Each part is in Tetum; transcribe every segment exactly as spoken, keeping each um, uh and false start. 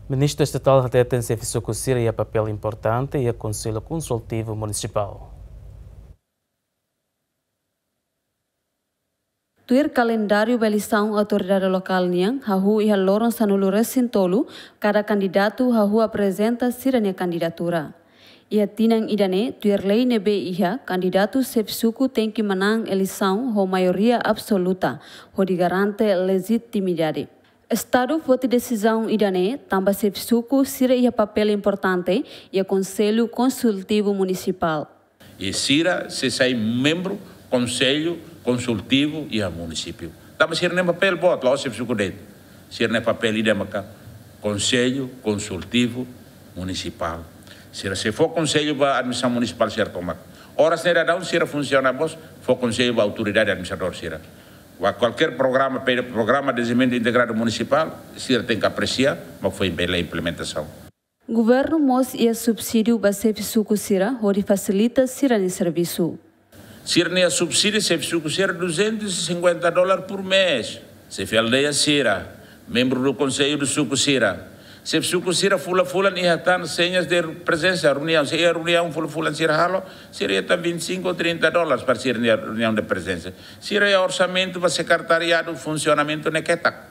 Ministru Estatál hateten xefe suku sira iha papél importante iha Konsellu Konsultivu Munisipál. Tuir kalendáriu ba eleisaun autoridade lokál nian, hahú iha loron sanulu-resin-tolu, kada kandidatu hahú aprezenta sira-nia kandidatura. Iha tinan ida-ne'e, tuir lei ne'ebé iha, kandidatu xefe suku tenke manán eleisaun ho maioria absoluta, hodi garante lejitimidade. Estadu foti desizaun ida-ne'e, tanba xefe suku sira iha papél importante iha Konsellu Konsultivu Munisipál. I sira sei sai membru Konsellu Konsultivu iha munisípiu. Tanba sira-nia papél boot, la'ós xefe suku de'it. Sira-nia papél ida maka Konsellu Konsultivu Munisipál. Sira sei fó konsellu ba administrasaun munisipál sira tomak. Oras ne'e daudaun sira funsiona mós, fó konsellu ba autoridade administradór sira. Ba kualkér programa, pe-, programa de dezenvolvimentu integradu munisipál, sira tenke apresia, mak foin bele implementasaun. Governu mós iha subsídiu ba xefe suku sira, hodi fasilita sira-nia servisu. Sira-nia subsídiu xefe suku sira duzentos e cinquenta dólar por mês. Xefe aldeia sira, membru do konsellu do suku sira. Xefe suku sira fulan-fulan iha tan senhas de prezensa, reuniaun, se iha reuniaun fulan-fulan sira halo, sira iha tan vinte e cinco ou trinta dólares para sira-nia reuniaun de prezensa. Sira iha orsamentu ba sekretariadu, funsionamentu ne'e ketak.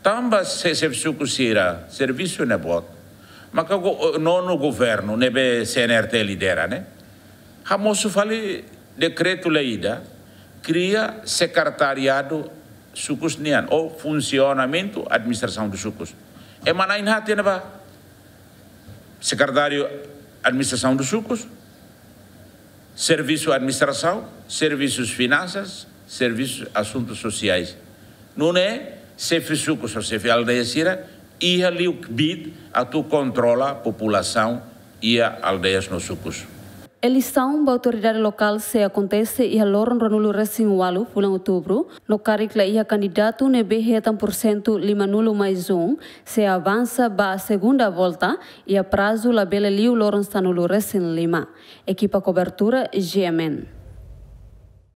Tanba se xefe suku sira servisu ne'e boot, maka go-, nonu governu ne'ebé C N R T lidera ne'e hamosu fali dekretu-lei ida, kria sekretariadu sukus nian, ou funsionamentu administrasaun dos sukus. Ema na'in-haat iha ne'ebá. Sekretáriu Administrasaun dos Sukus, Servisu Administrasaun, Servisus Finansas, Servisu Asuntus Sosiais. Nune'e xefe suku ou xefe aldeia sira iha liu kbiit atu kontrola populasaun iha aldeias no sukus. Eleisaun ba autoridade lokál sei akontese iha loron ruanulu-resin-ualu fulan Outubru, no karik la iha kandidatu ne'ebé hetan porsentu limanulu mais um, sei avansa ba segunda volta, iha prazu labele liu loron sanulu-resin-lima. Ekipa kobertura, G M N.